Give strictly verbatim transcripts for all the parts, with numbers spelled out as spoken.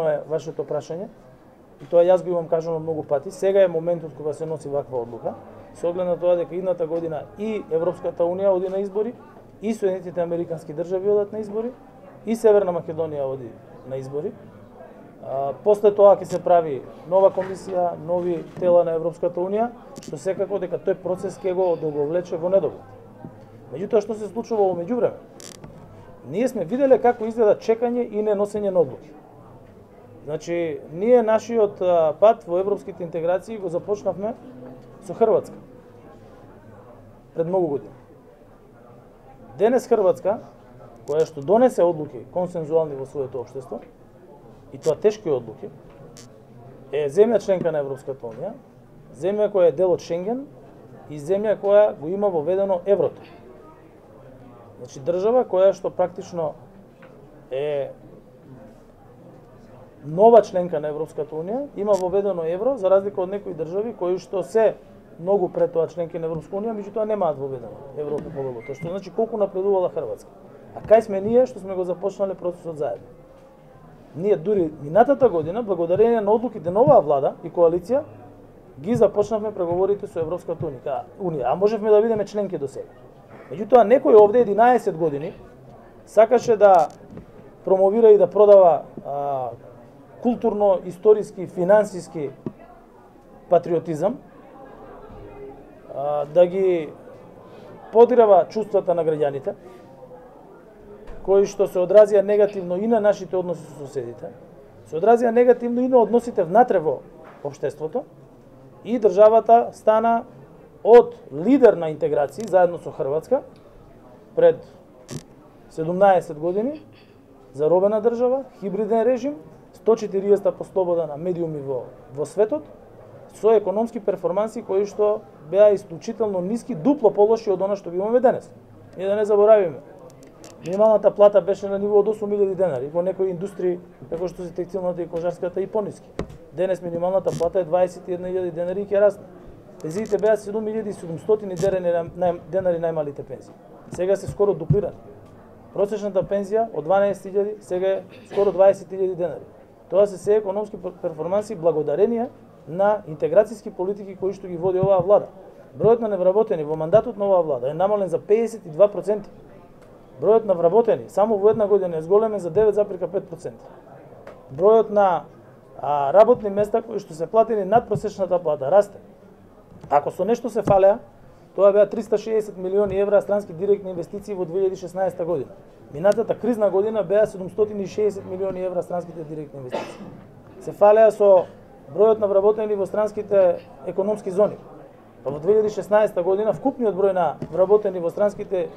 е вашето прашање, и тоа јас го имам кажано многу пати. Сега е моментот кога се носи ваква одлука, со оглед на тоа дека идната година и Европската Унија оди на избори, и Соединетите Американски држави одат на избори, и Северна Македонија оди на избори. А, после тоа ќе се прави нова комисија, нови тела на Европската Унија, што секако дека тој процес ќе го одолговлече во недоглед. Меѓутоа, што се случува во меѓувреме? Ние сме виделе како изгледа чекање и неносење на одлуки. Значи, ние нашиот пат во европските интеграции го започнавме со Хрватска пред многу години. Денес Хрватска, која што донесе одлуки консензуални во своето општество, и тоа тешки одлуки, е земја членка на Европската Унија, земја која е дел од Шенген и земја која го има воведено еврото. Значи, држава која што практично е нова членка на Европската Унија, има воведено евро, за разлика од некои држави кои што се многу пред тоа членки на Европската Унија, меѓутоа немаат воведено евро по повелото, што значи колку напредувала Хрватска. А кај сме ние што сме го започнале процесот заедно? Ние дури минатата година, благодарение на одлуките на оваа влада и коалиција, ги започнавме преговорите со Европската Унија, а можевме да бидеме членки до сега. Меѓутоа, некој овде единаесет години сакаше да промовира и да продава а, културно, историски, финансиски патриотизам, а, да ги подирава чувствата на граѓаните, кои што се одразија негативно и на нашите односи со соседите, се одразија негативно и на односите внатре во општеството, и државата стана од лидер на интеграција заедно со Хрватска пред седумнаесет години, заробена држава, хибриден режим, сто четириесетта по слобода на медиуми во, во светот, со економски перформанси кои што беа исклучително ниски, дупло полоши од она што ги имаме денес. И да не заборавиме, минималната плата беше на ниво од осум илјади денари, во некои индустрии, како што се текстилната и кожарската, и пониски. Денес минималната плата е дваесет и една илјади денари и ќе расне. Пензиите беа седум илјади и седумстотини денари најмалите пензии. Сега се скоро дуплирани. Просечната пензија од дванаесет илјади сега е скоро дваесет илјади денари. Тоа се се економски перформанси благодарение на интеграцијски политики кои што ги води оваа влада. Бројот на невработени во мандатот на оваа влада е намален за педесет и два проценти. Бројот на вработени само во една година е зголемен за девет запирка пет проценти. Бројот на а, работни места кои што се платени над просечната плата расте. Ако со нешто се фалеа, тоа беа триста шеесет милиони евра странски директни инвестиции во две илјади и шеснаесетта година. Минатата кризна година беа седумстотини и шеесет милиони евра странските директни инвестиции. Се фалеа со бројот на вработени во странските економски зони. Па во две илјади и шеснаесетта година вкупниот број на вработени во странските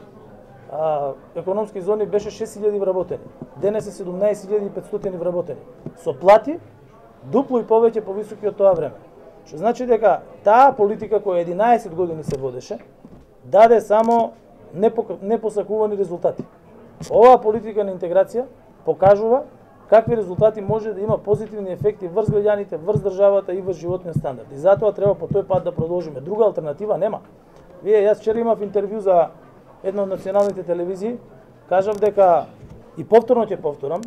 а, економски зони беше шест илјади вработени. Денес е седумнаесет илјади и петстотини вработени. Со плати дупло и повеќе повисоки од тоа време. Што значи дека таа политика која единаесет години се водеше, даде само непосакувани резултати. Оваа политика на интеграција покажува какви резултати може да има позитивни ефекти врз граѓаните, врз државата и врз животниот стандард. И затоа треба по тој пат да продолжиме. Друга алтернатива нема. Вие, јас вчера имав интервју за една од националните телевизии, кажав дека, и повторно ќе повторам,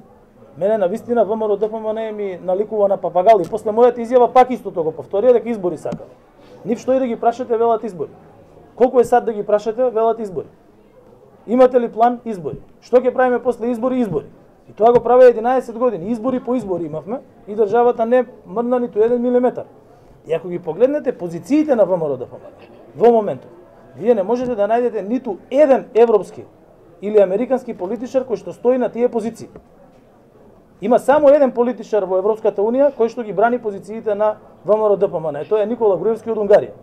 мене на вистина ВМРО Д П М Н ми наликува на папагал, и после мојата изјава пак истото го повторија дека избори сакат. Нив што и да ги прашате, велат избори. Колку е сад да ги прашате, велат избори. Имате ли план? Избори. Што ќе правиме после избори? Избори. И тоа го праве единаесет години. Избори по избори имавме и државата не мрдна ниту еден милиметар. И ако ги погледнете позициите на ВМРО Д П М Н во моментот, вие не можете да најдете ниту еден европски или американски политичар кој што стои на тие позиции. Има само еден политичар во Европската Унија кој што ги брани позициите на ВМРО Д П М Н. Тоа е Никола Груевски од Унгарија.